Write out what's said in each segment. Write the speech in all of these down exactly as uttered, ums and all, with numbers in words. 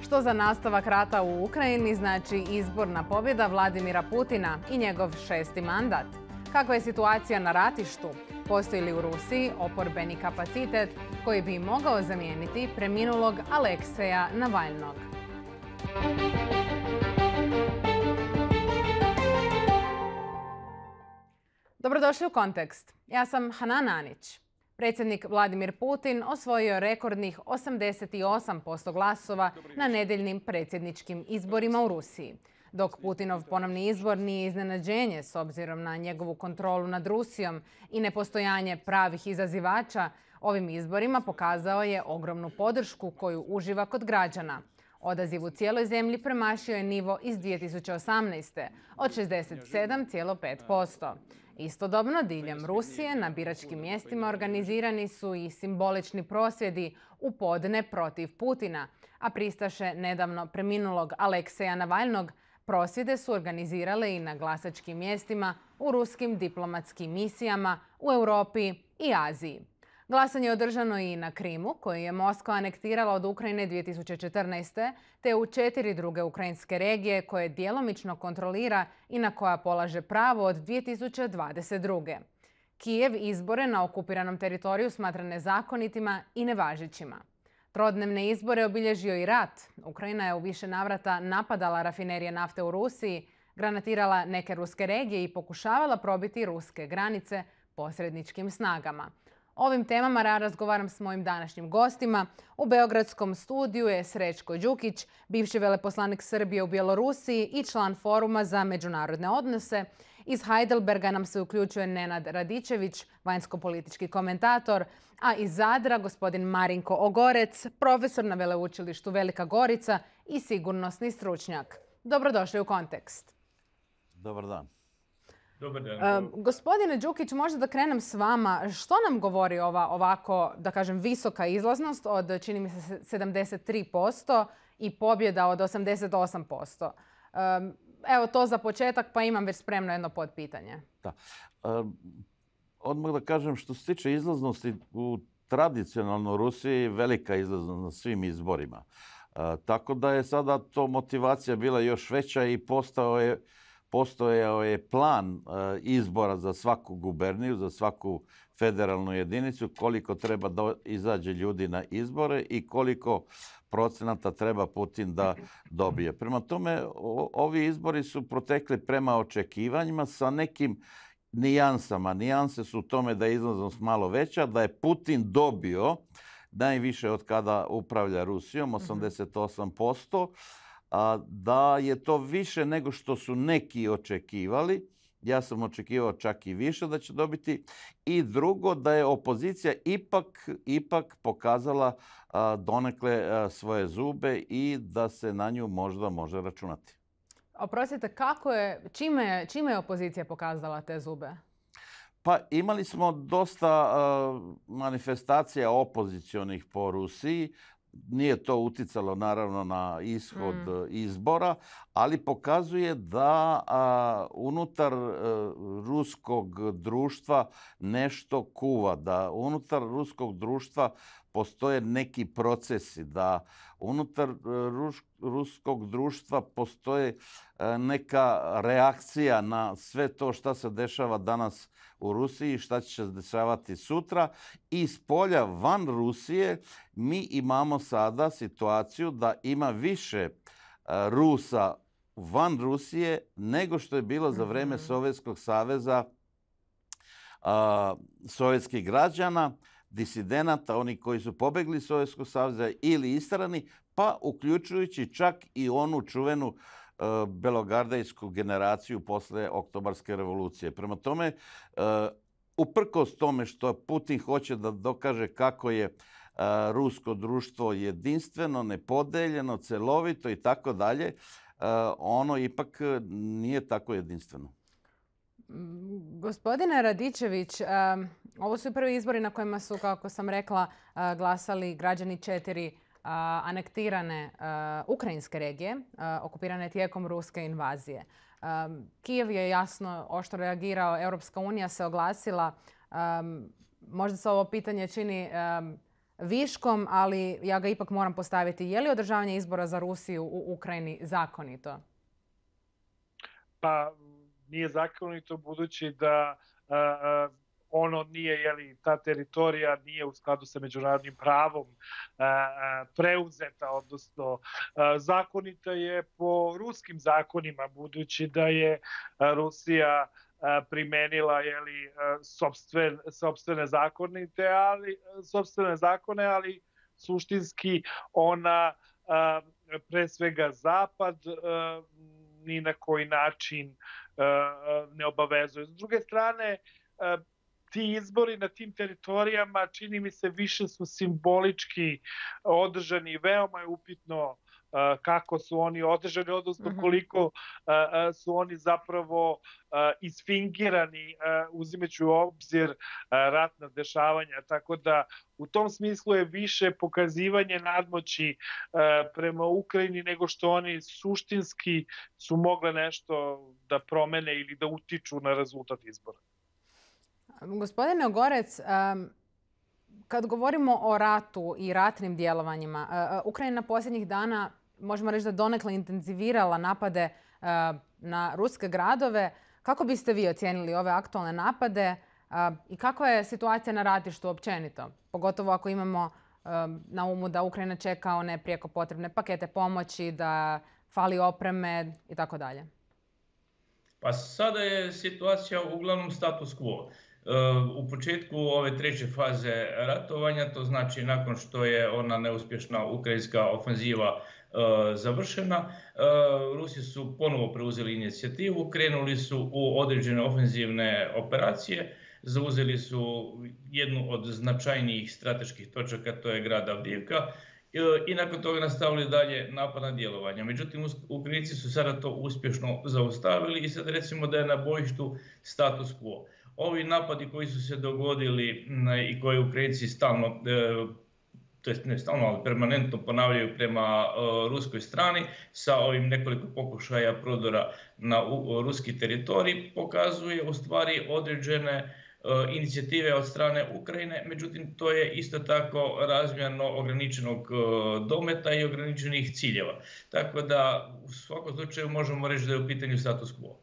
Što za nastavak rata u Ukrajini znači izborna pobjeda Vladimira Putina i njegov šesti mandat? Kakva je situacija na ratištu? Postoji li u Rusiji oporbeni kapacitet koji bi mogao zamijeniti preminulog Alekseja Navalnog? Dobrodošli u Kontekst. Ja sam Hanan Anić. Predsjednik Vladimir Putin osvojio je rekordnih osamdeset osam posto glasova na nedjeljnim predsjedničkim izborima u Rusiji. Dok Putinov ponovni izbor nije iznenađenje s obzirom na njegovu kontrolu nad Rusijom i nepostojanje pravih izazivača, ovim izborima pokazao je ogromnu podršku koju uživa kod građana. Odaziv u cijeloj zemlji premašio je nivo iz dvije tisuće osamnaeste. od šezdeset sedam zarez pet posto. Istodobno, diljem Rusije na biračkim mjestima organizirani su i simbolični prosvjedi u podne protiv Putina, a pristaše nedavno preminulog Alekseja Navalnog prosvjede su organizirale i na glasačkim mjestima u ruskim diplomatskim misijama u Europi i Aziji. Glasanje je održano i na Krimu, koji je Moskva anektirala od Ukrajine dvije tisuće četrnaeste. te u četiri druge ukrajinske regije koje djelomično kontrolira i na koja polaže pravo od dvije tisuće dvadeset druge. Kijev izbore na okupiranom teritoriju smatra nezakonitima i nevažećima. Trodnevne izbore obilježio i rat. Ukrajina je u više navrata napadala rafinerije nafte u Rusiji, granatirala neke ruske regije i pokušavala probiti ruske granice posredničkim snagama. O ovim temama razgovaram s mojim današnjim gostima. U beogradskom studiju je Srećko Đukić, bivši veleposlanik Srbije u Bjelorusiji i član Foruma za međunarodne odnose. Iz Heidelberga nam se uključuje Nenad Radičević, vanjsko-politički komentator, a iz Zadra gospodin Marinko Ogorec, profesor na Veleučilištu Velika Gorica i sigurnosni stručnjak. Dobrodošli u Kontekst. Dobar dan. Dobar dan. Uh, gospodine Đukić, možda da krenem s vama. Što nam govori ova ovako, da kažem, visoka izlaznost od, čini mi se, sedamdeset tri posto i pobjeda od osamdeset osam posto? Um, evo to za početak, pa imam već spremno jedno podpitanje. Da. Um, odmah da kažem, što se tiče izlaznosti u tradicionalno Rusiji, velika izlaznost na svim izborima. Uh, tako da je sada to motivacija bila još veća i postao je Postojao je plan izbora za svaku guberniju, za svaku federalnu jedinicu, koliko treba da izađe ljudi na izbore i koliko procenata treba Putin da dobije. Prema tome, ovi izbori su protekli prema očekivanjima sa nekim nijansama. Nijanse su u tome da je izlaznost malo veća, da je Putin dobio najviše od kada upravlja Rusijom, osamdeset osam posto, a da je to više nego što su neki očekivali. Ja sam očekivao čak i više da će dobiti. I drugo, da je opozicija ipak, ipak pokazala a, donekle a, svoje zube i da se na nju možda može računati. Oprostite, kako je, čime, čime je opozicija pokazala te zube? Pa imali smo dosta a, manifestacija opozicionih po Rusiji. Nije to uticalo naravno na ishod mm. izbora, ali pokazuje da a, unutar a, ruskog društva nešto kuva, da unutar ruskog društva postoje neki procesi, da unutar ruš, ruskog društva postoje a, neka reakcija na sve to što se dešava danas u Rusiji, šta će se dešavati sutra. I s polja van Rusije mi imamo sada situaciju da ima više Rusa van Rusije nego što je bilo za vrijeme Sovjetskog saveza, sovjetskih građana, disidenata, oni koji su pobegli iz Sovjetskog saveza ili istrani, pa uključujući čak i onu čuvenu belogardejsku generaciju posle Oktobarske revolucije. Prema tome, uprkos tome što Putin hoće da dokaže kako je rusko društvo jedinstveno, nepodeljeno, celovito i tako dalje, ono ipak nije tako jedinstveno. Gospodine Radičević, ovo su prvi izbori na kojima su, kako sam rekla, glasali građani četiri anektirane ukrajinske regije, okupirane tijekom ruske invazije. Kijev je jasno oštro reagirao, Europska unija se oglasila. Možda se ovo pitanje čini viškom, ali ja ga ipak moram postaviti. Je li održavanje izbora za Rusiju u Ukrajini zakonito? Pa nije zakonito budući da a, a, ono nije, jeli, ta teritorija nije u skladu sa međunarodnim pravom a, a, preuzeta, odnosno a, zakonita je po ruskim zakonima, budući da je a, Rusija a, primenila, jeli, a, sopstven, sopstvene zakonite, ali sopstvene zakone, ali suštinski ona a, pre svega Zapad a, ni na koji način uh, ne obavezuje. S druge strane, uh, ti izbori na tim teritorijama, čini mi se, više su simbolički održani i veoma je upitno uh, kako su oni održani, odnosno koliko uh, su oni zapravo uh, isfingirani, uh, uzimajući u obzir uh, ratna dešavanja. Tako da u tom smislu je više pokazivanje nadmoći uh, prema Ukrajini nego što oni suštinski su mogle nešto da promene ili da utiču na rezultat izbora. Gospodine Ogorec, um, kad govorimo o ratu i ratnim djelovanjima, uh, Ukrajina posljednjih dana, možemo reći da donekle intenzivirala napade uh, na ruske gradove. Kako biste vi ocijenili ove aktualne napade uh, i kakva je situacija na ratištu općenito? Pogotovo ako imamo uh, na umu da Ukrajina čeka one prijeko potrebne pakete pomoći, da fali opreme i tako dalje. Pa sada je situacija uglavnom status quo. U početku ove treće faze ratovanja, to znači nakon što je ona neuspješna ukrajinska ofenziva završena, Rusi su ponovo preuzeli inicijativu, krenuli su u određene ofenzivne operacije, zauzeli su jednu od značajnijih strateških točaka, to je grad Avdiivka, i nakon toga nastavili dalje napadna djelovanja. Međutim, Ukrajinci su sada to uspješno zaustavili i sad recimo da je na bojištu status quo. Ovi napadi koji su se dogodili i koje Ukrajinci stalno, to jest ne stalno, ali permanentno ponavljaju prema ruskoj strani sa ovim nekoliko pokušaja prodora na ruski teritorij, pokazuje u stvari određene inicijative od strane Ukrajine, međutim to je isto tako razmjerno ograničenog dometa i ograničenih ciljeva. Tako da u svakom slučaju možemo reći da je u pitanju status quo.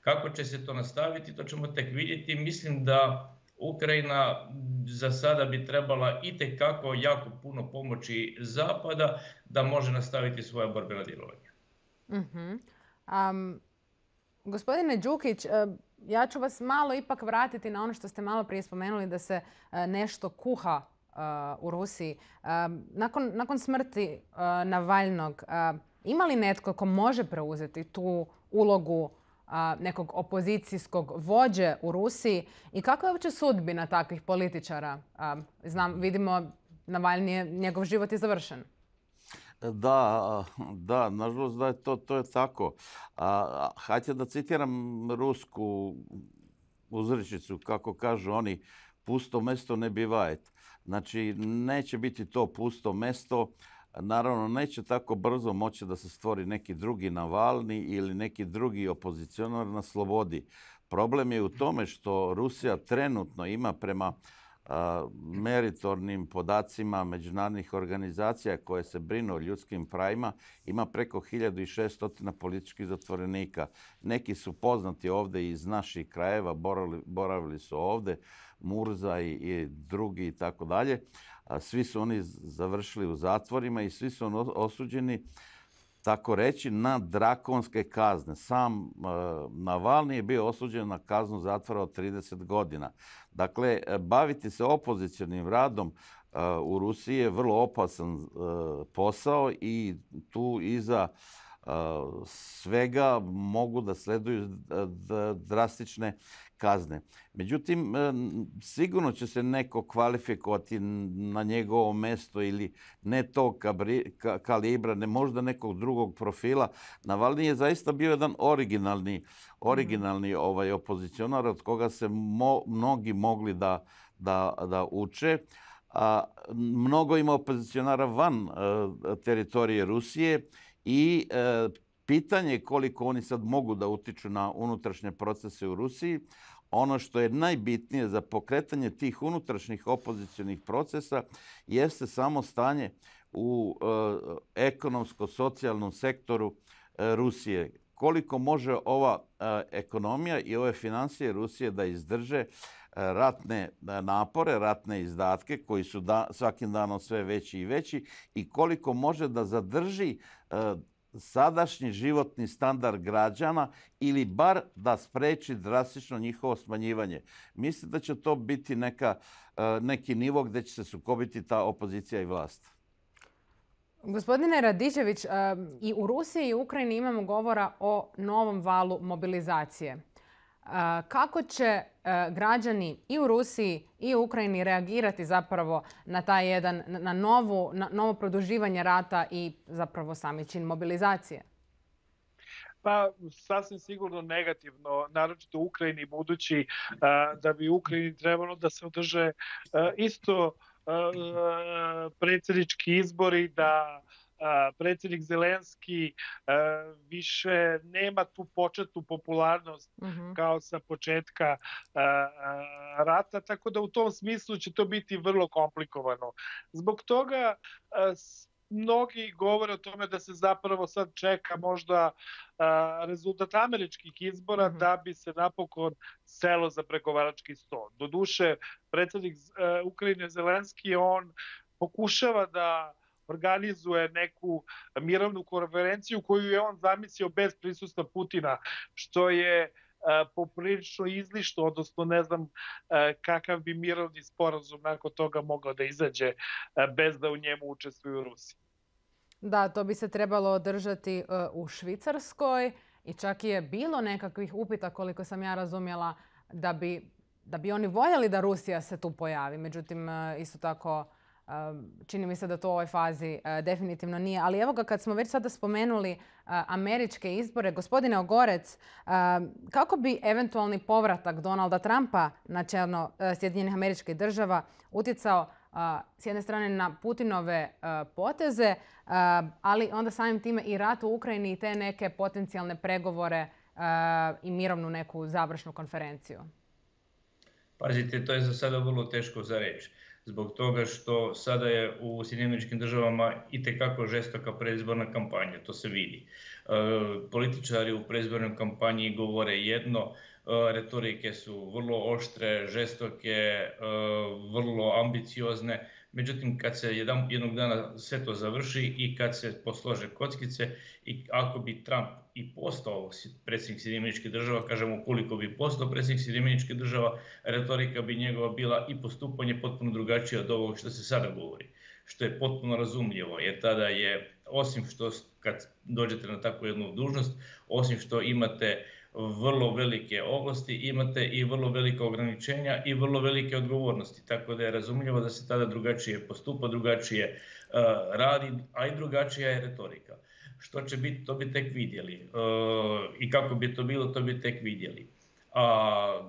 Kako će se to nastaviti, to ćemo tek vidjeti. Mislim da Ukrajina za sada bi trebala itekako jako puno pomoći Zapada da može nastaviti svoja borbena djelovanja. Uh-huh. Um, gospodine Đukić, ja ću vas malo ipak vratiti na ono što ste malo prije spomenuli da se nešto kuha uh, u Rusiji. Uh, nakon, nakon smrti uh, Navalnog, uh, ima li netko ko može preuzeti tu ulogu a, nekog opozicijskog vođe u Rusiji i kakva je uopće sudbina takvih političara? A, znam, vidimo, Navalni je, njegov život je završen. Da, da, nažalost da je to, to je tako. A, hajde da citiram rusku uzrečicu, kako kažu oni, pusto mesto ne bivajet. Znači, neće biti to pusto mesto. Naravno, neće tako brzo moći da se stvori neki drugi Navalni ili neki drugi opozicionar na slobodi. Problem je u tome što Rusija trenutno ima prema a, meritornim podacima međunarodnih organizacija koje se brinu o ljudskim pravima, ima preko hiljadu šesto političkih zatvorenika. Neki su poznati ovdje iz naših krajeva, boravili, boravili su ovdje, Murza i, i drugi i tako dalje. Svi su oni završili u zatvorima i svi su oni osuđeni, tako reći, na drakonske kazne. Sam uh, Navalni je bio osuđen na kaznu zatvora od trideset godina. Dakle, baviti se opozicionim radom uh, u Rusiji je vrlo opasan uh, posao i tu iza uh, svega mogu da sleduju drastične kazne. Međutim, sigurno će se neko kvalifikovati na njegovo mjesto ili ne tog kalibra, ne možda nekog drugog profila. Navalni je zaista bio jedan originalni, originalni ovaj, opozicionar od koga se mo, mnogi mogli da, da, da uče. A, mnogo ima opozicionara van a, teritorije Rusije i a, pitanje je koliko oni sad mogu da utiču na unutrašnje procese u Rusiji. ono što je najbitnije za pokretanje tih unutrašnjih opozicionih procesa jeste samo stanje u e, ekonomsko-socijalnom sektoru e, Rusije. Koliko može ova e, ekonomija i ove financije Rusije da izdrže e, ratne napore, ratne izdatke koji su da, svakim danom sve veći i veći i koliko može da zadrži e, sadašnji životni standard građana ili bar da spreči drastično njihovo smanjivanje. Mislim da će to biti neka, neki nivo gdje će se sukobiti ta opozicija i vlast. Gospodine Radičević, i u Rusiji i u Ukrajini imamo govora o novom valu mobilizacije. Kako će građani i u Rusiji i u Ukrajini reagirati zapravo na taj jedan, na, novu, na novo produživanje rata i zapravo sami čin mobilizacije? Pa sasvim sigurno negativno, naročito u Ukrajini, budući da bi u Ukrajini trebalo da se održe isto predsjednički izbori, da predsjednik Zelenski više nema tu početnu popularnost uh-huh. kao sa početka rata, tako da u tom smislu će to biti vrlo komplikovano. Zbog toga mnogi govore o tome da se zapravo sad čeka možda rezultat američkih izbora uh-huh. da bi se napokon selo za pregovarački sto. Doduše, predsjednik Ukrajine Zelenski, on pokušava da organizuje neku mirovnu konferenciju koju je on zamislio bez prisustva Putina, što je poprilično izlišno, odnosno ne znam kakav bi mirovni sporazum nakon toga mogao da izađe bez da u njemu učestvuju Rusi. Da, to bi se trebalo održati u Švicarskoj i čak je bilo nekakvih upita, koliko sam ja razumjela, da bi, da bi oni voljeli da Rusija se tu pojavi. Međutim, isto tako čini mi se da to u ovoj fazi definitivno nije. Ali evo ga, kad smo već sada spomenuli američke izbore, gospodine Ogorec, kako bi eventualni povratak Donalda Trumpa na čelo Sjedinjenih Američkih Država utjecao s jedne strane na Putinove poteze, ali onda samim time i rat u Ukrajini i te neke potencijalne pregovore i mirovnu neku završnu konferenciju? Pazite, to je za sada vrlo teško za reći. Zbog toga što sada je u Sjedinjenim Američkim Državama itekako žestoka predizborna kampanja, to se vidi. E, političari u predizbornoj kampanji govore jedno, e, retorike su vrlo oštre, žestoke, e, vrlo ambiciozne. Međutim, kad se jedan, jednog dana sve to završi i kad se poslože kockice i ako bi Trump i postao predsjednik Sjedinjenih Američkih Država, kažemo koliko bi postao predsjednik Sjedinjenih Američkih Država, retorika bi njegova bila i postupanje potpuno drugačije od ovog što se sada govori. Što je potpuno razumljivo, jer tada je, osim što kad dođete na takvu jednu dužnost, osim što imate vrlo velike ovlasti, imate i vrlo velike ograničenja i vrlo velike odgovornosti. Tako da je razumljivo da se tada drugačije postupa, drugačije uh, radi, a i drugačija je retorika. Što će biti, to bi tek vidjeli. Uh, I kako bi to bilo, to bi tek vidjeli. A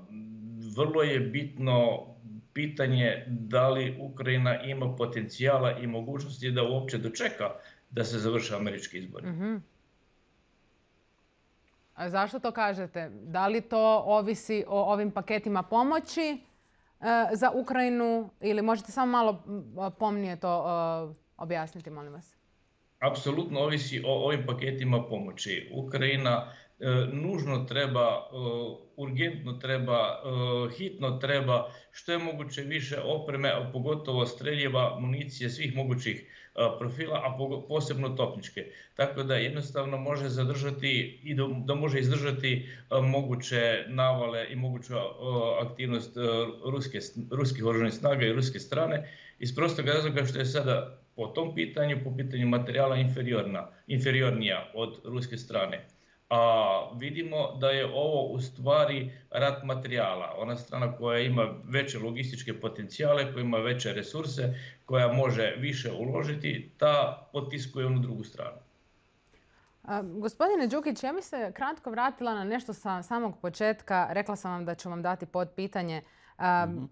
vrlo je bitno pitanje da li Ukrajina ima potencijala i mogućnosti da uopće dočeka da se završe američki izbori. Mm-hmm. A zašto to kažete? Da li to ovisi o ovim paketima pomoći e, za Ukrajinu ili možete samo malo pomnije to e, objasniti, molim vas? Apsolutno ovisi o ovim paketima pomoći. Ukrajina e, nužno treba, e, urgentno treba, e, hitno treba što je moguće više opreme, a pogotovo streljiva, municije svih mogućih profila, a posebno topničke. Tako da jednostavno može zadržati i da može izdržati moguće navale i moguću aktivnost ruske, ruskih oružanih snaga i ruske strane iz prostog razloga što je sada po tom pitanju, po pitanju materijala inferiorna, inferiornija od ruske strane. A vidimo da je ovo u stvari rat materijala. Ona strana koja ima veće logističke potencijale, koja ima veće resurse, koja može više uložiti, ta potiskuje onu drugu stranu. A, gospodine Đukić, ja bih se kratko vratila na nešto sa samog početka. Rekla sam vam da ću vam dati podpitanje. A, mm-hmm.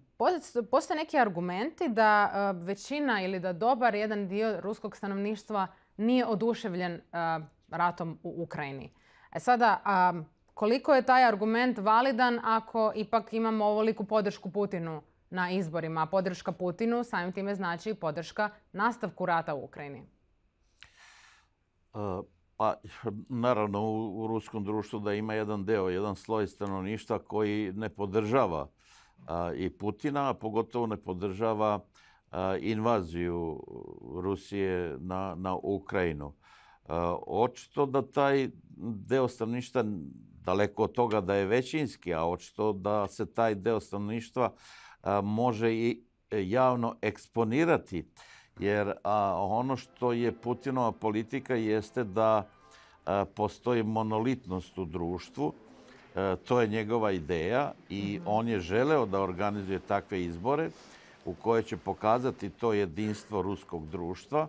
Postoje neki argumenti da a, većina ili da dobar jedan dio ruskog stanovništva nije oduševljen a, ratom u Ukrajini. E sada, a, Koliko je taj argument validan ako ipak imamo ovoliku podršku Putinu na izborima? A podrška Putinu samim time znači i podrška nastavku rata u Ukrajini. Pa, naravno, u, u ruskom društvu da ima jedan deo, jedan sloj stanovništva koji ne podržava a, i Putina, a pogotovo ne podržava a, invaziju Rusije na, na Ukrajinu. A, očito da taj deo stanovništva, daleko od toga da je većinski, a očito da se taj deo stanovništva a, može i javno eksponirati. Jer a, ono što je Putinova politika jeste da a, postoji monolitnost u društvu. A, to je njegova ideja i on je želeo da organizuje takve izbore u koje će pokazati to jedinstvo ruskog društva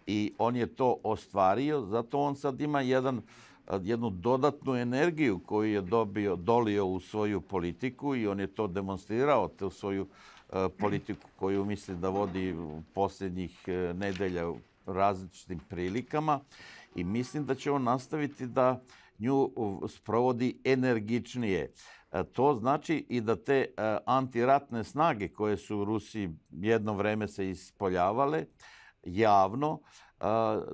i on je to ostvario. Zato on sad ima jedan, jednu dodatnu energiju koju je dobio, dolio u svoju politiku i on je to demonstrirao, tu svoju politiku koju misli da vodi posljednjih nedelja u različitim prilikama i mislim da će on nastaviti da nju sprovodi energičnije. To znači i da te antiratne snage koje su u Rusiji jedno vreme se ispoljavale javno,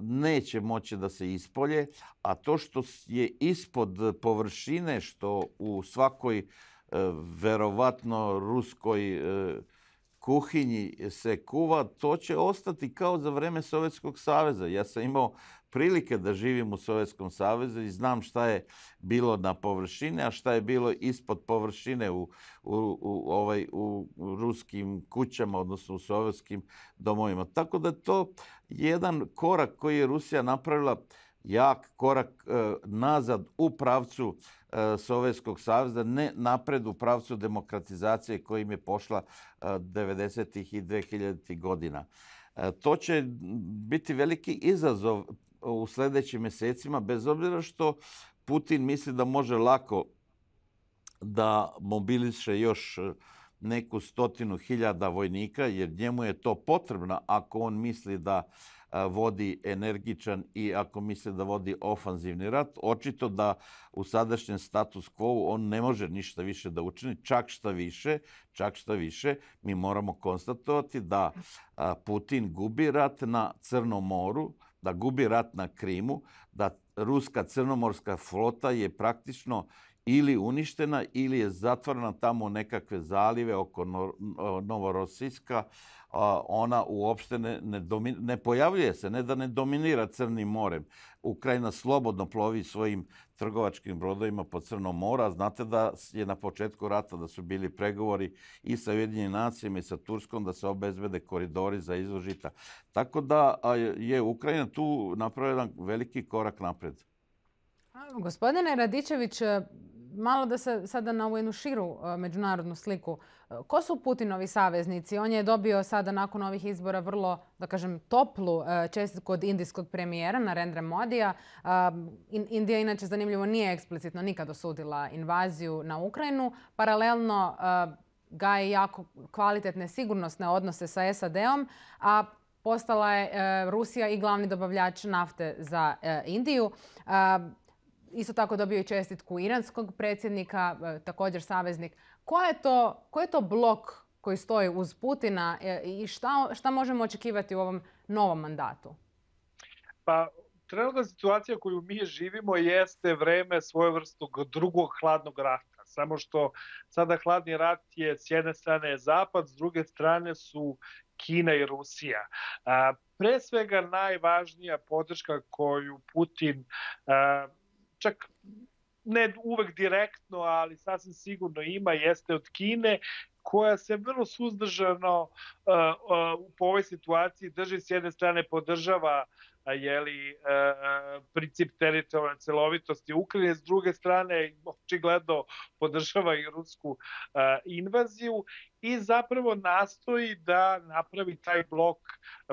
neće moći da se ispolje, a to što je ispod površine, što u svakoj verovatno ruskoj kuhinji se kuva, to će ostati kao za vreme Sovjetskog saveza. Ja sam imao prilike da živim u Sovjetskom savezu i znam šta je bilo na površine, a šta je bilo ispod površine u, u, u, ovaj, u ruskim kućama, odnosno u sovjetskim domovima. Tako da je to jedan korak koji je Rusija napravila, jak korak e, nazad u pravcu e, Sovjetskog saveza, ne napred u pravcu demokratizacije kojim je pošla e, devedesetih i dvehiljaditih godina. E, to će biti veliki izazov u sljedećim mjesecima, bez obzira što Putin misli da može lako da mobiliše još neku stotinu hiljada vojnika, jer njemu je to potrebno ako on misli da vodi energičan i ako misli da vodi ofanzivni rat. Očito da u sadašnjem status quo on ne može ništa više da učini, čak šta više, čak šta više, mi moramo konstatovati da Putin gubi rat na Crnom moru, da gubi rat na Krimu, da ruska crnomorska flota je praktično ili uništena ili je zatvorena tamo u nekakve zalive oko Novorossijska. Ona uopšte ne, ne, domin, ne pojavljuje se, ne da ne dominira Crnim morem. Ukrajina slobodno plovi svojim trgovačkim brodovima po Crnom moru, a znate da je na početku rata da su bili pregovori i sa Ujedinjenim nacijama i sa Turskom da se obezbede koridori za izvoz žita. Tako da je Ukrajina tu napravila jedan veliki korak napred. Gospodine Radičević, malo da se sada na ovu jednu širu međunarodnu sliku. Ko su Putinovi saveznici? On je dobio sada nakon ovih izbora vrlo, da kažem, toplu čestitku od indijskog premijera Narendra Modija. Indija, inače, zanimljivo, nije eksplicitno nikad osudila invaziju na Ukrajinu. Paralelno gaje jako kvalitetne sigurnosne odnose sa S A D-om, a postala je Rusija i glavni dobavljač nafte za Indiju. Isto tako dobio i čestitku iranskog predsjednika, također saveznik. Ko je to, ko je to blok koji stoji uz Putina i šta, šta možemo očekivati u ovom novom mandatu? Pa, trenutna situacija koju mi živimo jeste vreme svojevrsnog drugog hladnog rata. Samo što sada hladni rat je s jedne strane Zapad, s druge strane su Kina i Rusija. A, pre svega najvažnija podrška koju Putin a, čak ne uvek direktno, ali sasvim sigurno ima, jeste od Kine, koja se vrlo suzdržano uh, uh, po ovoj situaciji drži, s jedne strane podržava jeli, uh, princip teritorijalne celovitosti Ukrajine, s druge strane očigledno podržava i rusku uh, invaziju i zapravo nastoji da napravi taj blok,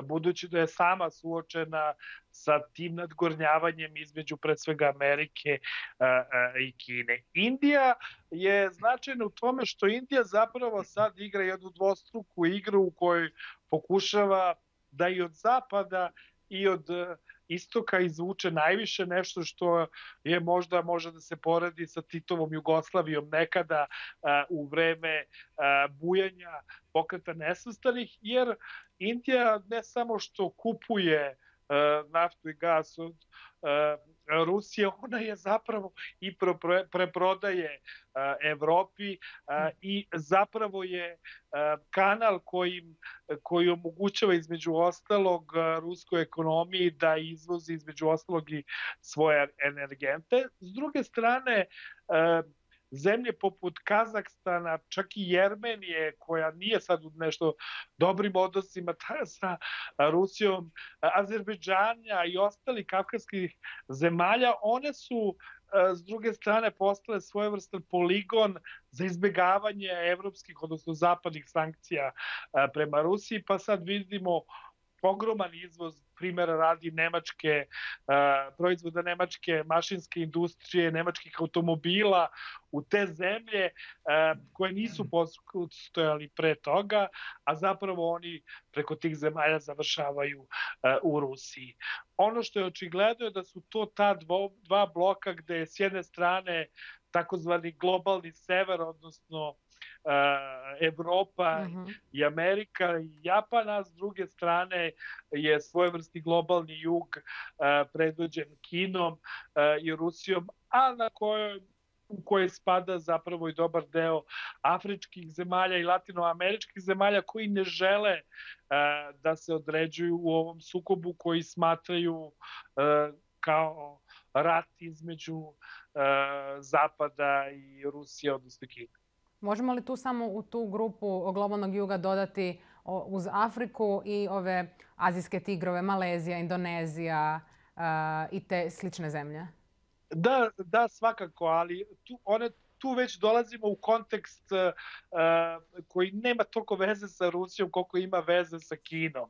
budući da je sama suočena sa tim nadgornjavanjem između pred svega Amerike uh, uh, i Kine. Indija je značajna u tome što Indija zapravo sad igra jednu dvostruku igru u kojoj pokušava da i od Zapada i od istoka izvuče najviše, nešto što je možda može da se poredi sa Titovom Jugoslavijom nekada u vreme bujanja Pokreta nesvrstanih, jer Indija ne samo što kupuje naftu i gas od Rusije, ona je zapravo i preprodaje Evropi i zapravo je kanal koji omogućava između ostalog ruskoj ekonomiji da izvozi između ostalog i svoje energente. S druge strane, zemlje poput Kazahstana, čak i Jermenije, koja nije sad u nešto dobrim odnosima sa Rusijom, Azerbejdžana i ostalih kavkazskih zemalja, one su s druge strane postale svojevrstan poligon za izbjegavanje evropskih, odnosno zapadnih sankcija prema Rusiji, pa sad vidimo ogroman izvoz, primjera radi nemačke, proizvoda nemačke mašinske industrije, nemačkih automobila u te zemlje koje nisu postojali pre toga, a zapravo oni preko tih zemalja završavaju u Rusiji. Ono što je očigledno je da su to ta dva bloka gde je s jedne strane takozvani globalni sever, odnosno Evropa i Amerika i Japan, a s druge strane je svojevrsni globalni jug predvođen Kinom i Rusijom, a na kojoj u koje spada zapravo i dobar deo afričkih zemalja i latinoameričkih zemalja koji ne žele da se određuju u ovom sukobu, koji smatraju kao rat između Zapada i Rusije, odnosno Kine. Možemo li tu samo u tu grupu globalnog juga dodati uz Afriku i ove azijske tigrove, Malezija, Indonezija i te slične zemlje? Da, da, svakako, ali tu, one, tu već dolazimo u kontekst uh, koji nema toliko veze sa Rusijom koliko ima veze sa Kinom. Uh,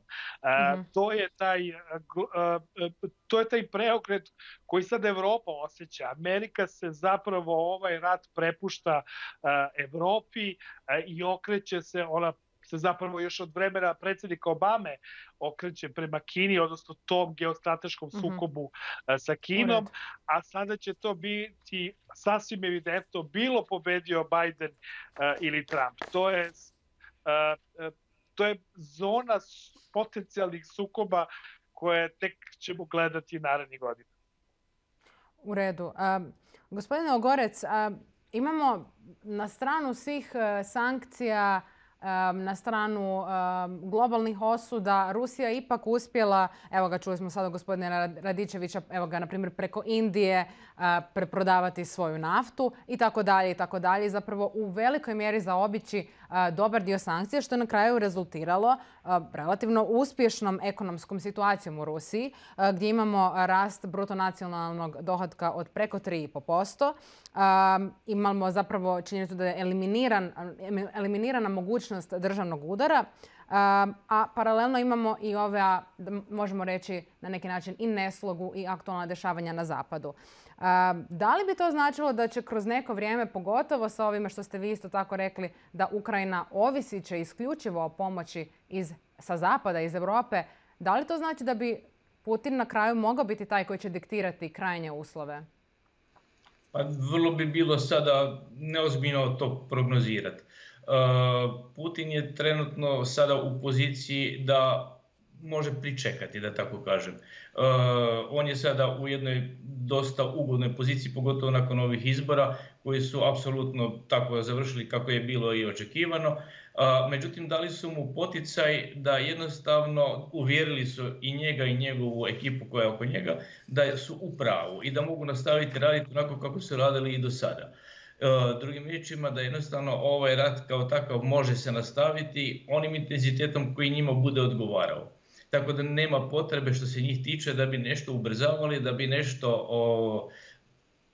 mm-hmm. To je taj, uh, uh, to je taj preokret koji sad Evropa osjeća. Amerika se zapravo ovaj rat prepušta uh, Evropi uh, i okreće se, ona se zapravo još od vremena predsjednika Obame okreće prema Kini, odnosno tom geostrateškom sukobu mm-hmm. sa Kinom, a sada će to biti sasvim evidentno bilo pobedio Biden uh, ili Trump. To je, uh, uh, to je zona potencijalnih sukoba koje tek ćemo gledati narednih godina. U redu. Uh, gospodine Ogorec, uh, imamo na stranu svih uh, sankcija, na stranu globalnih osuda, Rusija ipak uspjela, evo ga čuli smo sada gospodina Radičevića, evo ga na primjer preko Indije preprodavati svoju naftu i tako dalje i tako dalje. Zapravo u velikoj mjeri zaobići dobar dio sankcija, što je na kraju rezultiralo relativno uspješnom ekonomskom situacijom u Rusiji, gdje imamo rast bruto nacionalnog dohotka od preko tri zarez pet posto. Imamo zapravo činjenicu da je eliminiran, eliminirana mogućnost državnog udara, a paralelno imamo i ove, možemo reći na neki način, i neslogu i aktualna dešavanja na zapadu. Da li bi to značilo da će kroz neko vrijeme, pogotovo sa ovime što ste vi isto tako rekli, da Ukrajina ovisit će isključivo o pomoći iz, sa zapada, iz Europe, da li to znači da bi Putin na kraju mogao biti taj koji će diktirati krajnje uslove? Pa vrlo bi bilo sada neozbiljno to prognozirati. Putin je trenutno sada u poziciji da može pričekati, da tako kažem. On je sada u jednoj dosta ugodnoj poziciji, pogotovo nakon ovih izbora, koji su apsolutno tako završili kako je bilo i očekivano. Međutim, dali su mu poticaj da jednostavno uvjerili su i njega i njegovu ekipu koja je oko njega da su u pravu i da mogu nastaviti raditi onako kako su radili i do sada. Drugim riječima, da jednostavno ovaj rat kao takav može se nastaviti onim intenzitetom koji njima bude odgovarao. Tako da nema potrebe što se njih tiče da bi nešto ubrzavali, da bi nešto o,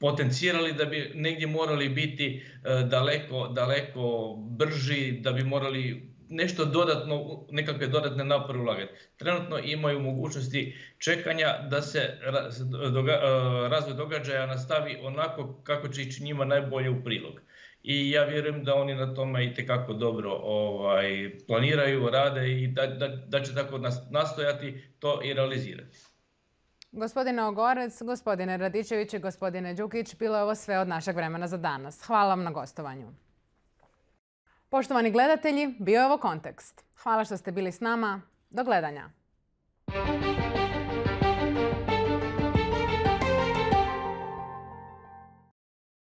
potencirali, da bi negdje morali biti e, daleko, daleko brži, da bi morali nešto dodatno, nekakve dodatne napore ulagati. Trenutno imaju mogućnosti čekanja da se doga, razvoj događaja nastavi onako kako će ići njima najbolje u prilog. I ja vjerujem da oni na tome itekako dobro ovaj, planiraju, rade i da, da, da će tako nastojati to i realizirati. Gospodine Ogorec, gospodine Radičević i gospodine Đukić, bilo je ovo sve od našeg vremena za danas. Hvala vam na gostovanju. Poštovani gledatelji, bio je ovo Kontekst. Hvala što ste bili s nama. Do gledanja.